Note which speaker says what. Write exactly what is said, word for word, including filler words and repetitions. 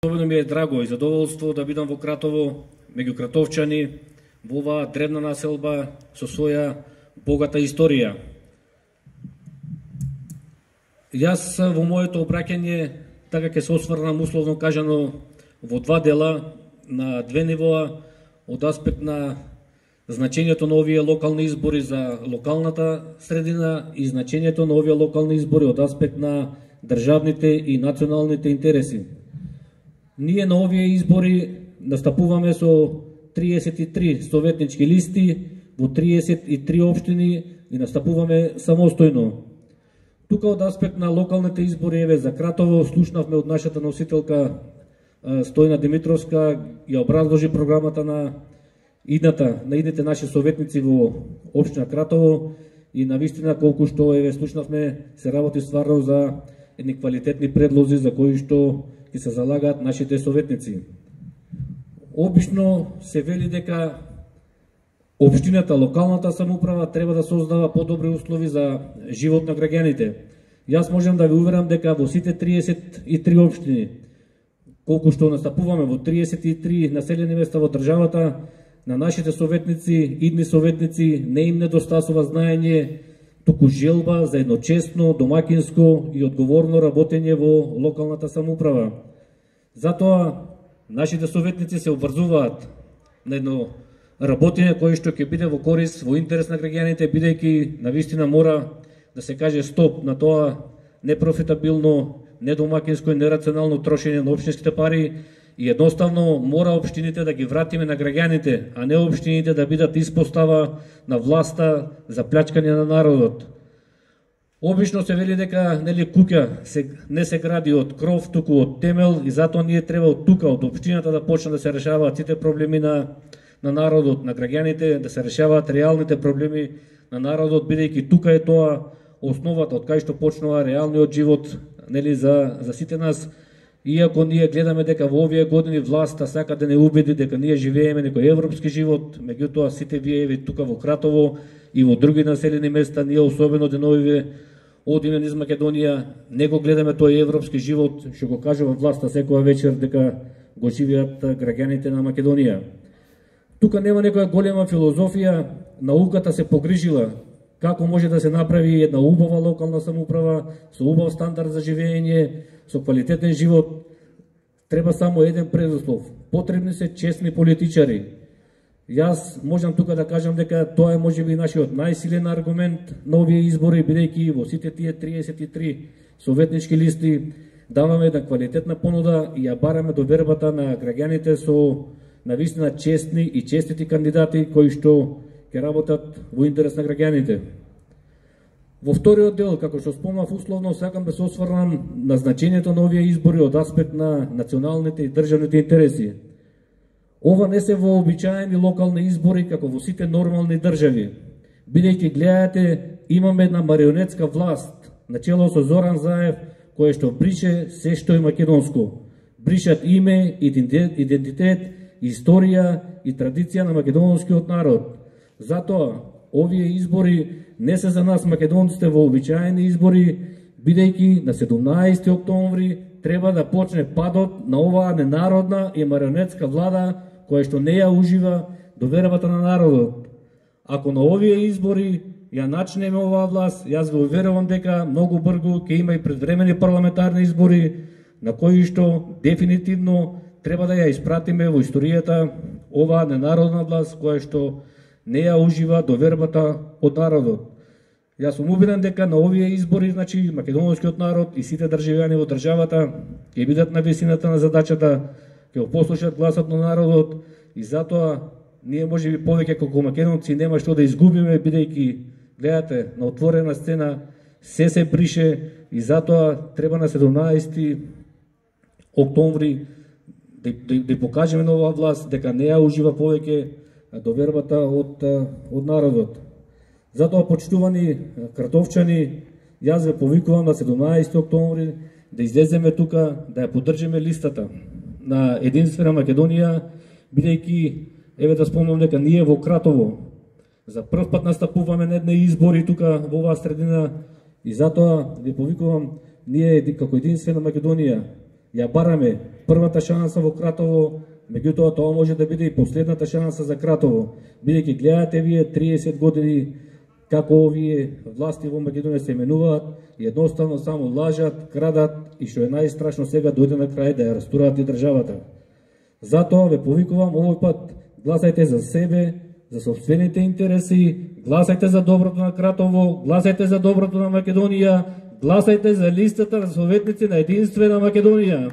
Speaker 1: Особено ми е драго и задоволство да бидам во Кратово, меѓу кратовчани, во оваа древна населба со своја богата историја. Јас во моето обраќање така ќе се осврнам условно кажано во два дела, на две нивоа, од аспект на значењето на овие локални избори за локалната средина и значењето на овие локални избори од аспект на државните и националните интереси. Ние на овие избори настапуваме со триесет и три советнички листи во триесет и три општини и настапуваме самостојно. Тука од аспект на локалните избори, еве за Кратово, слушнавме од нашата носителка Стојна Димитровска, ја образложи програмата на идната, на идните наши советници во општина Кратово и навистина колку што еве слушнавме се работи стварно за едни квалитетни предлози за кои што ќе се залагаат нашите советници. Обично се вели дека општината, локалната самоуправа треба да создава подобри услови за живот на граѓаните. Јас можам да ви уверам дека во сите триесет и три општини, колку што настапуваме во триесет и три населени места во државата, на нашите советници, идни советници, не им недостасува знаење, туку желба за едно честно, домакинско и одговорно работење во локалната самоуправа. Затоа нашите советници се обврзуваат на едно работење кое што ќе биде во корис, во интерес на граѓаните, бидејќи навистина мора да се каже стоп на тоа непрофитабилно, недомакинско и нерационално трошење на општинските пари и едноставно мора општините да ги вратиме на граѓаните, а не општините да бидат испостава на власта за плячкање на народот. Обично се вели дека нели куќа се, не се гради од кров, туку од темел и затоа ние треба од тука, од општината да почнат да се решаваат сите проблеми на, на народот, на граѓаните, да се решаваат реалните проблеми на народот, бидејќи тука е тоа основата од кај што почнува реалниот живот нели за, за сите нас. Иако ние гледаме дека во овие години власта сака да не убеди дека ние живееме некој европски живот, меѓутоа сите вие еве тука во Кратово и во други населени места, ние особено деновиве одиме низ Македонија, не го гледаме тој европски живот што го кажува власта секоја вечер дека го живеат граѓаните на Македонија. Тука нема некоја голема филозофија, науката се погрижила како може да се направи една убава локална самоуправа со убав стандард за живење, со квалитетен живот. Треба само еден предуслов. Потребни се честни политичари. Јас можам тука да кажам дека тоа е можеби нашиот најсилен аргумент на овие избори, бидејќи во сите тие триесет и три советнички листи даваме една квалитетна понуда и ја бараме довербата на граѓаните со навистина честни и честити кандидати кои што ќе работат во интерес на граѓаните. Во вториот дел, како што спомнав условно, сакам да се осврнам на значењето на овие избори од аспект на националните и државните интереси. Ова не се вообичаени локални избори како во сите нормални држави, бидејќи гледате имаме една марионетска власт начело со Зоран Заев, кој што брише се што е македонско. Бришат име, идентитет, историја и традиција на македонскиот народ. Затоа, овие избори не се за нас македонците вообичаени избори, бидејќи на седумнаесети октомври треба да почне падот на оваа ненародна и марионетска влада која што не ја ужива довербата на народот. Ако на овие избори ја начнеме оваа власт, јас го уверувам дека многу брзо ќе има и предвремени парламентарни избори на кои што дефинитивно треба да ја испратиме во историјата оваа ненародна власт која што не ја ужива довербата од народот. Јас сум убеден дека на овие избори, значи, македонскиот народ и сите државјани во државата ќе бидат на висината на задачата, ќе го послушат гласот на народот и затоа ние можеби повеќе како македонци нема што да изгубиме, бидејќи гледате на отворена сцена се се брише и затоа треба на седумнаесети октомври да, да, да покажеме на оваа власт дека не ја ужива повеќе довербата од, од народот. Затоа, почитувани кратовчани, јас ве повикувам на седумнаесети октомври да излеземе тука, да ја поддржиме листата на Единствена Македонија, бидејќи, еве да спомнам дека ние во Кратово за прв пат настапуваме на едни избори тука во оваа средина и затоа ве повикувам ние како Единствена Македонија ја бараме првата шанса во Кратово, меѓутоа тоа може да биде и последната шанса за Кратово, бидејќи гледате вие триесет години како овие власти во Македонија се менуваат и едноставно само лажат, крадат и што е најстрашно сега дојде на крај да ја растураат и државата. Затоа ве повикувам овој пат, гласајте за себе, за сопствените интереси, гласајте за доброто на Кратово, гласајте за доброто на Македонија, гласајте за листата на советници на Единствена Македонија.